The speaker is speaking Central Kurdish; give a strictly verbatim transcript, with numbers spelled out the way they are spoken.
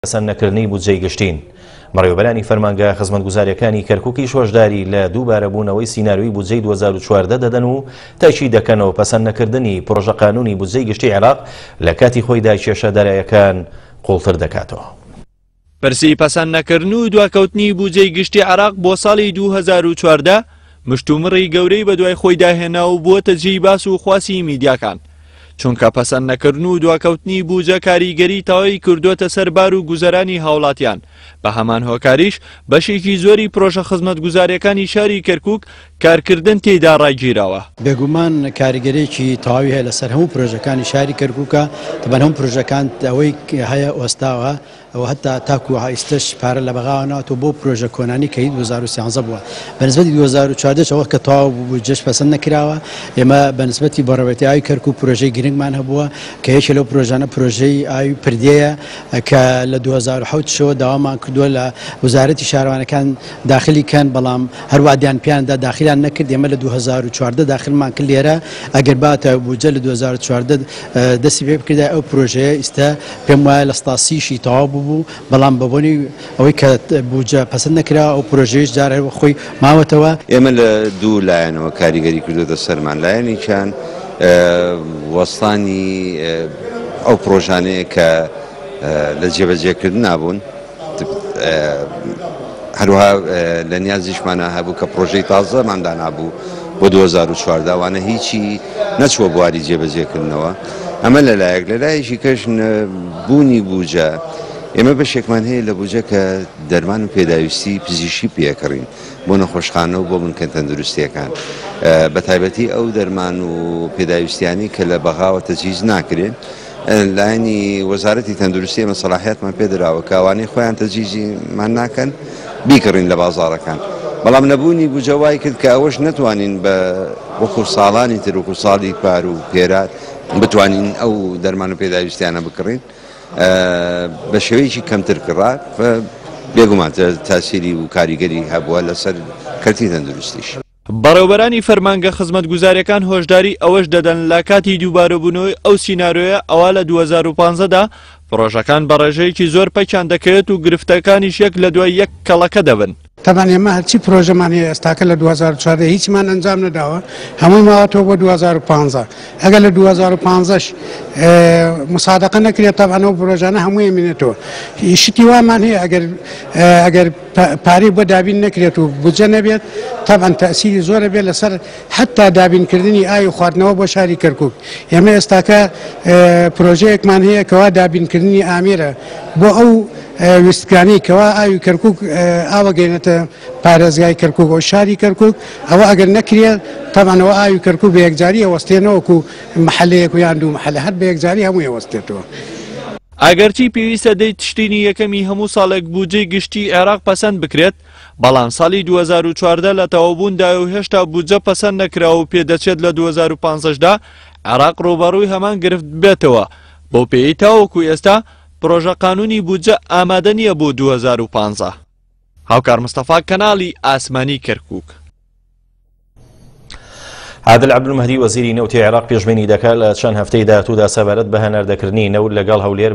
پەسەندنەکردنی بودجەی گشتین. بەڕێوەبەرانی فەرمانگە خزمەتگوزاریەکانی کەرکووکیش هۆشداری لە دووبارەبوونەوەی سیناریۆی بودجەی دوو هەزار و چواردە دەدەن و تاکید دەکەنەوە پەسەندنەکردنی پرۆژە قانونی بودجەی گشتی عێراق لە کاتی خۆیدا کێشە دارایەکان قوڵتر دەکاتەوە. پرسی پەسەندنەکردن و دواکەوتنی بودجەی گشتی عێراق بۆ ساڵی دوو هەزار و چواردە مشتومڕی گەورەی بەدوای خۆیدا هێنا و بووەتە جێی باس و خواسی میدیاکان، چونکە پەسەندنەکردن و دواکەوتنی بودجە کاریگەری تەواوی کردووەتە سەر بار و گوزەرانی هاوڵاتیان. بە هەمان هۆکاریش بەشێکی زۆری پرۆژە خزمەتگوزاریەکانی شاری کەرکووک کارکردن تێیدا ڕاگیراوە. بێگومان کاریگەریەکی تەواوی هەیە لەسەر هەموو پرۆژەکانی شاری کەرکووکە. تەبەن هەموو پرۆژەکان ئەوەی هەیە ئۆستاوە و حتی تاکو ئێستش پارە لە بەغاوە ناتەوە بۆ پرۆژە کۆنانی کە دوو هەزار و سیانزە بووە. بەنسبەتی دوو هەزار و چواردە ئەوە کە تەواو بوو بودجەش پەسەند نەکراوە. ئێمە بەنسبەتی بەڕێوەبەرێتی ئاوی کەرکووک پرۆژەی گرنگمان هەبووە کە یەکێ لەو پرۆژانە پرۆژەی ئاوی پردێیە کە لە دوو هەزار و حەوت شەوە داوامان کردووە لە وەزارەتی شارەوانەکان داخلی کەن، بەڵام هەروادیان پیاندا داخلیان نەکرد. ئێمە لە دوو هەزار و چواردە داخلمان کرد لێرە. ئەگەر باتە بودجە لە دوو هەزار و چواردە دەستی پێ بکردای ئەو پرۆژەیە ئێستا پێم وایە لە ستاسیشی تەواو بوو، بەڵام بەبۆنی ئەوەی کە بودجە پەسەند نەکرا ئەو پرۆژەیەش جارێ خۆی ماوەتەوە. ئێمە لە دوو لایەنەوە کاریگەری کردوتە سەرمان. لایەنێکیان وەستانی ئەو پرۆژانەیە کە لە جێبەجێکردن نابوون، هەروەها لە نیازیشمانە هەبوو کە پرۆژەی تازەمان دانابوو بۆ دوو هەزار و چواردە، ئەوانە هیچی نەچووە بواری جێبەجێکردنەوە. ئەمە لەلایەک. لەلایەکی کەش بوونی بودجە، ئێمە بەشێکمان هەیە لە بودجە کە دەرمان و پێداویستی پزیشکی پێکڕین بۆ نەخۆشخانە و بۆ بنکە تەندروستیەکان، بە تایبەتی ئەو دەرمان و پێداویستیانی کە لە بەغاوە تەجهیز ناکرێن. لایەنی وەزارەتی تەندروستی ئێمە سەلاحیاتمان پێدراوە کە ئەوانەی خۆیان تەجهیزیمان ناکەن بیکڕین لە بازاڕەکان، بەڵام نەبوونی بودجە وای کرد کە ئەوەش نەتوانین بە وەکو ساڵانی تر وەکو ساڵی پار و پێرار بتوانین ئەو دەرمان و پێداویستیانە بکڕین. بە شێوەیەکی کەمتر کڕا، بێگومان تاسیری و کاریگەری هەبووە لەسەر کەرتی تەندروستیش. بەڕێوەبەرانی فەرمانگە خزمەتگوزاریەکان هۆشداری ئەوەش دەدەن لە کاتی دووبارەبوونەوەی ئەو سیناریۆیە ئەوە لە دوو هەزار و پانزەدا پرۆژەکان بە ڕێژەیەکی زۆر پەکیان دەکەوێت و گرفتەکانیش یەک لە دوای یەک کەڵەکە دەبن. تەبان ئێمە هەرچی پرۆژەمان هەیە ئێستاکە لە دوو هەزار و چواردە هیچمان ئەنجام نەداوە، هەمووی ماوەتەوە بۆ دوو هەزار و پانزە. ئەگەر لە دوو هەزار و پانزەش مسادقە نەکرێت تەبعەن ئەو پرۆژانە هەمووی ئەمێنێتەوە. شتی وامان هەیە ئەگەر ئەگەر پارەی بۆ دابین نەکرێت و بودجە نەبێت تەبعەن تەئسیری زۆرە بێت لەسەر حتا دابینکردنی ئاوی خواردنەوە بۆ شاری کەرکووک. ئێمە ئێستاکە پرۆژەیەکمان هەیە کەوا دابینکردنی ئامێرە بۆ ئەو ویستگانەی کەوا ئاوی کەرکووک ئاوەگەینێتە پارێزگای کەرکووک و شاری کەرکووک. ئەوە ئەگەر نەکرێت تەبعەن ئەوە ئاوی کەرکووک بە یەکجاری ئەوەستێنەوە وەکو محەلەیەک و یان دوو محەلە، هەر بە یەکجاری هەمووی ئەوەستێتەوە. ئەگەرچی پێویستە دەی تشرینی یەکەمی هەموو ساڵێک بودجەی گشتی عێراق پەسەند بکرێت، بەڵام ساڵی دوو هەزار و چواردە لە تەواوبووندایە و هێشتا بودجە پەسەند نەکراوە و پێدەچێت لە دوو هەزار و پانزەشدا عێراق ڕووبەڕووی هەمان گرفت بێتەوە، بەو پێیەی تاوەکو ئێستا پرۆژە قانونی بودجە ئامادە نییە بۆ دوو هەزار و پانزە. هاوکار مستەفا، کەناڵی ئاسمانی کەرکووک. عادل عەبدولمەهدی وەزیری نەوتی عێراق پێشبینی دەکات لە چەند هەفتەی داهاتوودا سەبارەت بە هەناردەکردنی نەوت لەگەڵ هەولێر